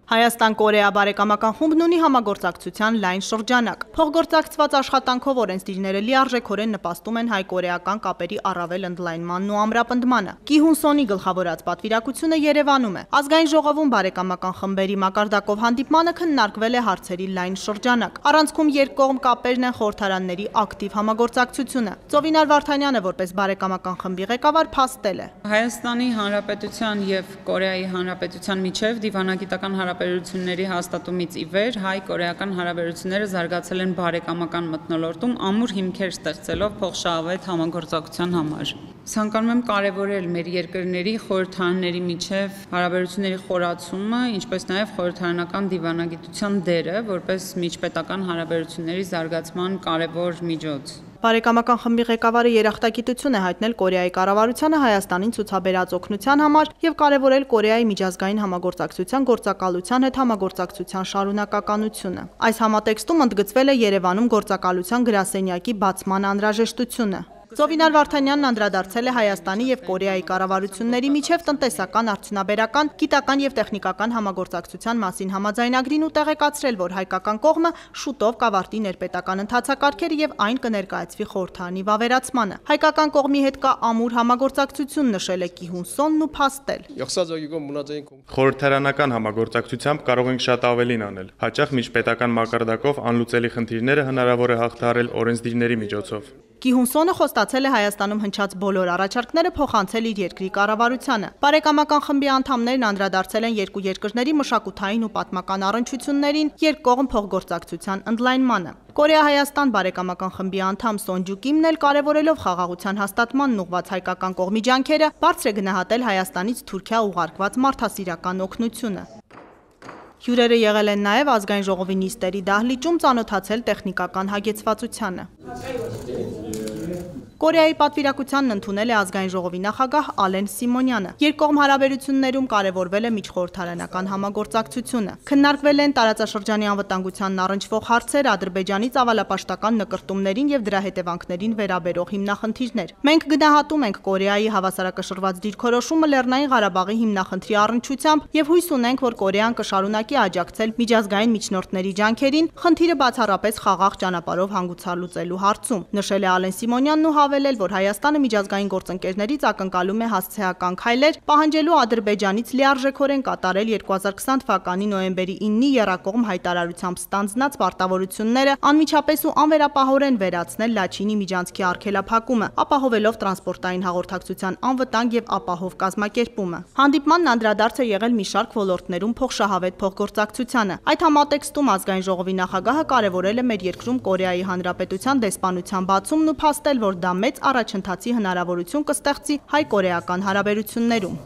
Հայաստան-Կորեա բարեկամական խումբն ունի համագործակցության լայն շրջանակ։ Փոխգործակցված աշխատանքով օրենսդիրները լիարժեքորեն նպաստում են հայ-կորեական կապերի առավել ընդլայնմանն ու ամրապնդմանը։ Կիհուն Սոնի գլխավորած պատվիրակությունը Երևանում է։ Ազգային ժողովում բարեկամական խմբերի մակարդակով հանդիպմանը քննարկվել է հարցերի լայն շրջանակ։ Առանցքում երկկողմ կապերն են խորհրդարանների ակտիվ համագործակցությունը։ Ծովինար Վարդանյանը որպես բարեկամական խմբի ղեկավար փաստել է։ Հայաստանի Հանրապետության եւ Կորեայի Հանրապետության միջև դիվանագիտական հարաբերությունների հաստատումից ի վեր հայ-կորեական հարաբերությունները զարգացել են բարեկամական մթնոլորտում ամուր հիմքեր ստեղծելով փոխշահավետ համագործակցության համար։ Ցանկանում եմ կարևորել մեր երկրների խորհրդարանների միջև հարաբերությունների խորացումը, ինչպես նաև խորհրդարանական դիվանագիտության դերը որպես միջպետական հարաբերությունների զարգացման կարևոր միջոց։ Բարեկամական խմբի ղեկավարը երախտագիտություն է հայտնել Կորեայի կառավարությանը Հայաստանին ցուցաբերած օգնության համար եւ կարեւորել Կորեայի միջազգային համագործակցության գործակալության հետ համագործակցության շարունակականությունը։ Այս համատեքստում ընդգծվել է Երևանում գործակալության գրասենյակի բացման անհրաժեշտությունը։ Ծովինար Վարդանյանն անդրադարձել է Հայաստանի եւ Կորեայի կառավարությունների միջև տնտեսական, արդյունաբերական, գիտական եւ տեխնիկական համագործակցության մասին համաձայնագրին ու տեղեկացրել, որ հայկական կողմը շուտով կավարտի ներպետական ընթացակարգերը եւ այն կներկայացվի խորհրդարանի վավերացմանը։ Հայկական կողմի հետ կա ամուր համագործակցություն, նշել է Կիհուն Սոնն ու փաստել։ Խորհրդարանական համագործակցությամբ կարող ենք շատ ավելին անել։ Հաճախ միջպետական մակարդակով անլուծելի խնդիրները հնարավոր է հաղթահարել օրենսդիրների միջոցով։ Կիհուն Սոնը խոստացել է Հայաստանում հնչած բոլոր առաջարկները փոխանցել իր երկրի կառավարությանը։ Բարեկամական խմբի անդամներն անդրադարձել են երկու երկրների մշակութային ու պատմական առնչություններին, երկկողմ փոխգործակցության ընդլայնմանը։ Կորեա-Հայաստան բարեկամական խմբի անդամ Սոնջու Կիմն էլ կարևորելով խաղաղության հաստատմանն ուղղված հայկական կողմի ջանքերը, բարձր է գնահատել Հայաստանից Թուրքիա ուղարկված մարդասիրական օգնությունը։ Հյուրերը եղել են նաև ազգային ժողովի նիստերի դահլիճում ծանոթացել տեխնիկական հագեցվածությանը։ Կորեայի պատվիրակությանն ընդունել է ազգային ժողովի նախագահ Ալեն Սիմոնյանը։ Երկկողմ հարաբերություններում կարևորվել է միջխորհրդարանական համագործակցությունը։ Քննարկվել են տարածաշրջանի անվտանգությանն առնչվող հարցեր, Ադրբեջանի ծավալապաշտական նկրտումներին եւ դրա հետևանքներին վերաբերող հիմնախնդիրներ։ Մենք գնահատում ենք Կորեայի հավասարակշռված դիրքորոշումը Լեռնային Ղարաբաղի հիմնախնդրի առնչությամբ եւ հույս ունենք, որ Կորեան կշարունակի աջակցել միջազգային միջնորդների ջանքերին խնդիրը բացառապես խաղաղ ճանապարհով հանգուցալուծելու հարցում, նշել է Ալեն Սիմոնյանն ու հավելել, որ Հայաստանը միջազգային գործընկերներից ակնկալում է հասցեական քայլեր, պահանջելու Ադրբեջանից լիարժեքորեն կատարել 2020 թվականի նոյեմբերի 9-ի եռակողմ հայտարարությամբ ստանձնած պարտավորությունները, անմիջապես ու անվերապահորեն վերացնել Լաչինի միջանցքի արգելափակումը, ապահովելով տրանսպորտային հաղորդակցության անվտանգ եւ ապահով կազմակերպումը։ Հանդիպմանն անդրադարձ է եղել մի շարք ոլորտներում փոխշահավետ փոխգործակցությանը։ Այդ համատեքստում ազգային ժողովի նախագահը կարևորել է մեր երկրում Կորեայի Հանրապետության դեսպանության բացումն ու փաստել, որ դա մեծ առաջընթացի հնարավորություն կստեղծի հայ-կորեական հարաբերություններում։